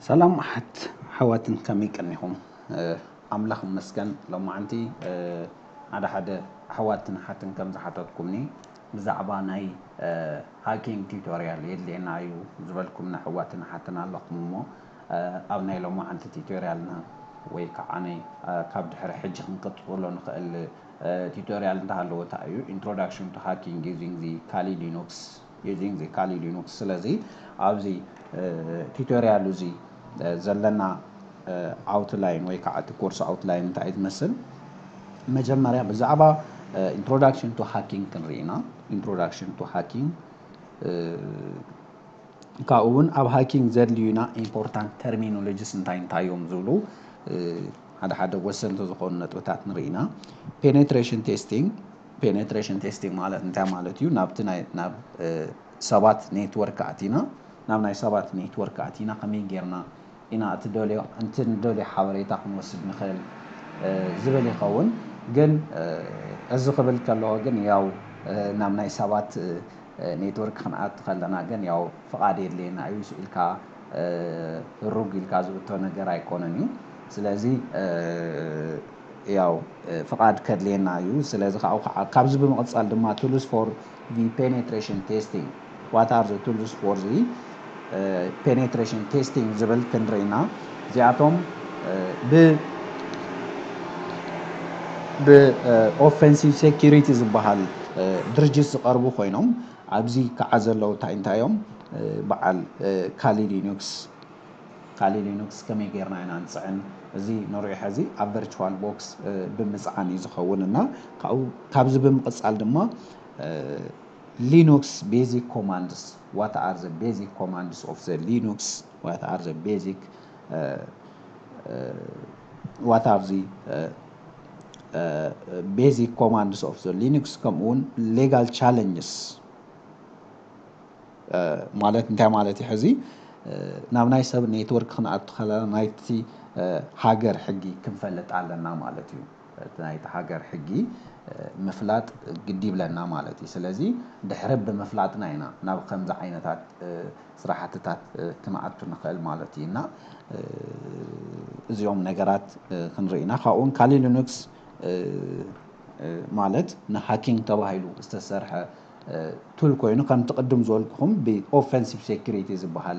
ሰላም ኣሓት ኣሕዋትን ከመይ ቀኒኹም? ኣምላኽ ይመስገን። ሎማዓንቲ ሓደ ሓደ ኣሕዋትን ኣሓትን ከም ዝሓተትኩምኒ ብዛዕባ ናይ ሃኪንግ ቲዩቶርያል የድልየና እዩ ዝበልኩምኒ ኣሕዋትን ኣሓትን ኣለኹም እሞ ኣብ ናይ ሎማዓንቲ ቲዩቶርያልና ወይ ከዓ ናይ ካብ ድሕሪ ሕጂ ክንቅፅሎ ንኽእል ቲዩቶርያል እንተሃለወ እንታይ እዩ? Introduction to hacking using the Kali Linux using the Kali Linux። ስለዚ ኣብዚ ቲዩቶርያል እዚ ዘለና ኣውትላይን ወይ ከዓ እቲ ኮርስ ኣውትላይን እንታይ እዩ ዝመስል? መጀመርያ ብዛዕባ Introduction to hacking ክንርኢ ኢና። Introduction to hacking ካብኡ እውን ኣብ ሃኪንግ ዘድልዩና ኢምፖርታንት ተርሚኖሎጂስ እንታይ እንታይ እዮም ዝብሉ ሓደ ሓደ ወሰንቲ ዝኾኑ ነጥብታት ንርኢ ኢና። ፔኔትሬሽን ቴስቲንግ ፔኔትሬሽን ቴስቲንግ ማለት እንታይ ማለት እዩ? ናብቲ ናይ ናብ ሰባት ኔትወርክ ኣቲና ናብ ናይ ሰባት ኔትወርክ ኣቲና ከመይ ጌርና ኢና እቲ ደልዮ እቲ ንደልዮ ሓበሬታ ክንወስድ ንኽእል ዝብል ይኸውን። ግን እዚ ክብል ከለኹ ግን ያው ናብ ናይ ሰባት ኔትወርክ ክንኣቱ ከለና ግን ያው ፍቓድ የድልየና እዩ ኢልካ ሩግ ኢልካ ዝእቶ ነገር ኣይኮነን እዩ። ስለዚ ያው ፍቓድ ከድልየና እዩ። ስለዚ ካብዚ ብምቕፃል ድማ tools for the penetration testing what are the tools for the penetration testing ዝብል ክንርኢና እዚኣቶም ብ ብኦፌንሲቭ ሴኪሪቲ ዝበሃል ድርጅት ዝቐርቡ ኮይኖም ኣብዚ ከዓ ዘለዉ እንታይ እንታይ እዮም? በዓል ካሊ ሊኑክስ ካሊ ሊኑክስ ከመይ ጌርና ኢና ንፅዕን? እዚ ንሪኦ ሕዚ ኣብ ቨርቹዋል ቦክስ ብምፅዓን እዩ ዝኸውን እና ካብዚ ብምቕፃል ድማ ሊኑክስ ቤዚክ ኮማንድስ what are the basic commands of the Linux what are the basic what are the basic commands of the Linux ከምኡ እውን ሌጋል ቻለንጅስ ማለት እንታይ ማለት እዩ? ሕዚ ናብ ናይ ሰብ ኔትወርክ ክንኣቱ ከለና ናይቲ ሃገር ሕጊ ክንፈልጥ ኣለና ማለት እዩ። ናይቲ ሃገር ሕጊ ምፍላጥ ግዲ ይብለና ማለት እዩ። ስለዚ ድሕሪ ብምፍላጥና ኢና ናብ ከምዚ ዓይነታት ስራሕትታት ክንኣቱ ንኽእል ማለት እዩ እና እዚኦም ነገራት ክንርኢ ኢና። ካብኡን ካሊ ሊኑክስ ማለት ንሃኪንግ ተባሂሉ ዝተሰርሐ ቱል ኮይኑ ከምቲ ቅድም ዝበልኩኹም ብኦፌንሲቭ ሴኩሪቲ ዝበሃል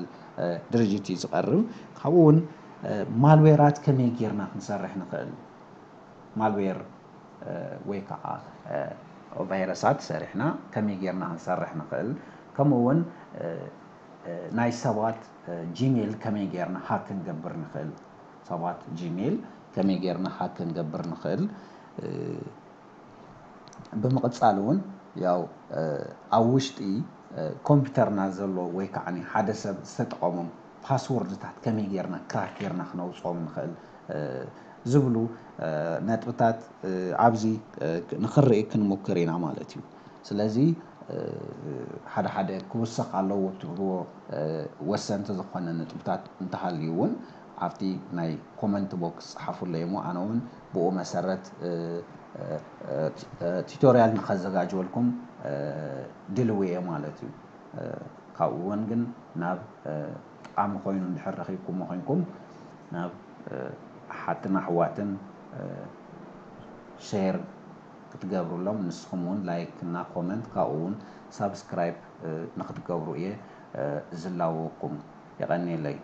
ድርጅት እዩ ዝቐርብ። ካብኡ እውን ማልዌራት ከመይ ጌርና ክንሰርሕ ንኽእል ማልዌር ወይ ከዓ ቫይረሳት ሰሪሕና ከመይ ጌርና ክንሰርሕ ንኽእል ከምኡ እውን ናይ ሰባት ጂሜል ከመይ ጌርና ሃክ ክንገብር ንኽእል ሰባት ጂሜል ከመይ ጌርና ሃክ ክንገብር ንኽእል ብምቕፃል እውን ያው ኣብ ውሽጢ ኮምፒውተርና ዘሎ ወይ ከዓ ሓደ ሰብ ዝተጠቐሞም ፓስወርድታት ከመይ ጌርና ክራክ ጌርና ክነውፅኦም ንኽእል ዝብሉ ነጥብታት ኣብዚ ንኽንርኢ ክንሙክር ኢና ማለት እዩ። ስለዚ ሓደ ሓደ ክውሰኽ ኣለዎ ትብልዎ ወሰንቲ ዝኾነ ነጥብታት እንተሃልዩ እውን ኣብቲ ናይ ኮመንት ቦክስ ጸሓፉለይ እሞ ኣነ እውን ብኡ መሰረት ቲቶርያል ንኸዘጋጅወልኩም ድልው እየ ማለት እዩ። ካብኡ እውን ግን ናብ ጠቓሚ ኮይኑ እንድሕር ረኺብኩሞ ኮይንኩም ናብ ኣሓትን ኣሕዋትን ሸር ክትገብሩሎም ንስኹም እውን ላይክ እና ኮመንት ካብኡ እውን ሳብስክራይብ ንክትገብሩ እየ ዝላወኩም። የቐንየለይ።